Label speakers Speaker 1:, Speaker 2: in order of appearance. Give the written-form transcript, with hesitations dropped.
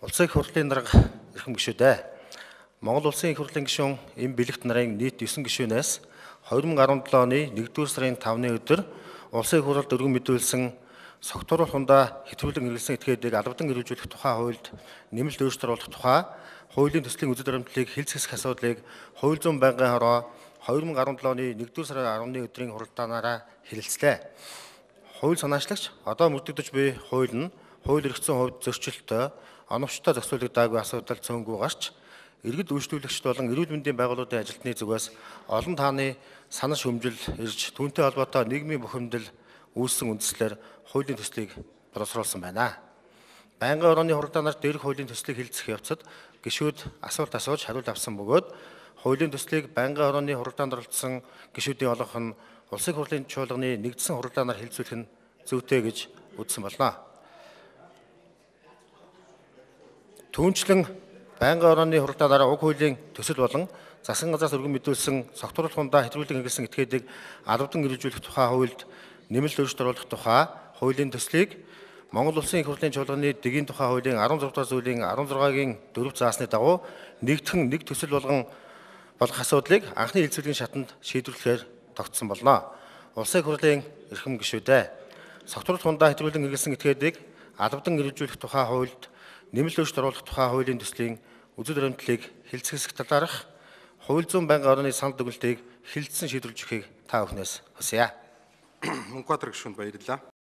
Speaker 1: Улсын их хурлын дарга эрхэм гишүүдээ. Монгол улсын их хурлын гишүүн эм бэлэгт нарын нийт 9 гишүүнээс 2017 оны 1-р сарын 5-ны өдөр улсын их хурлд өргөн мэдүүлсэн согтууруулах хундаа хэтрүүлэн хэрэглэсэн этгээдийг албадан хэрэгжүүлэх тухай хуульд нэмэлт өөрчлөлт оруулах тухай хуулийн төслийн үзэл баримтлалыг хэлц хэсэх асуудлыг хууль зүйн байнгын хороо 2017 оны 1-р сарын 10-ны өдрийн хуралдаанаараа хэлэлцлээ. Хууль санаачлагч одоо мөрдөгдөж буй хууль нь хууль эрхцэн хувьд зөрчилтөй оновчтой зохицуулагдаагүй асуудал цөөнгүй гарч иргэд үйлчлүүлэгчд болон эрүүл мэндийн байгууллагын ажилтны зүгээс олон тааны санал шүмжил ирж түүнтэй холбоотой нийгмийн бухимдал үүссэн үндслээр хуулийн төслийг боловсруулсан байна. Байнгын орооны хуралдаанаар дээрх хуулийн төслийг хэлэлцэх явцад гишүүд асуулт асууж хариулт авсан бөгөөд хуулийн төслийг байнгын орооны хуралдаанд оролцсон гишүүдийн олонх нь улсын хурлын чуулганы нэгдсэн хуралдаанаар хэлэлцүүлэх нь зүйтэй гэж үзсэн болно. Түүнчлэн байнгын орооны хуралдаанаар уг хуулийн төсөл болон засгийн газраас өргөн мэдүүлсэн согтууруулах хундаа хэтрүүлэн хэрэглэсэн этгээдийг албадан хэрэгжүүлэх тухай хуульд нэмэлт өөрчлөлт оруулах тухай хуулийн төслийг Монгол улсын их хурлын чуулганы дэгийн тухай хуулийн 16 дугаар зүйлийн 16-гийн 4 заасны дагуу нэгдхэн нэг төсөл болгох асуудлыг анхны хэлэлцүүлгийн шатанд шийдвэрлэхээр тогтсон болно. Улсын их хурлын эрхэм гишүүдээ согтууруулах хундаа хэтрүүлэн хэрэглэсэн этгээдийг албадан хэрэгжүүлэх тухай хуульд нэмэлт өөрчлөлт оруулах тухай хуулийн төслийн үзэл баримтлалыг хэлэлцэх талаарх хууль зүйн байнгын орооны санал дүгнэлтийг хэлэлцсэн шийдвэрлэж өгөхийг та бүхнээс хүсье.
Speaker 2: Мөнхбаатар гишүүнд баярлалаа.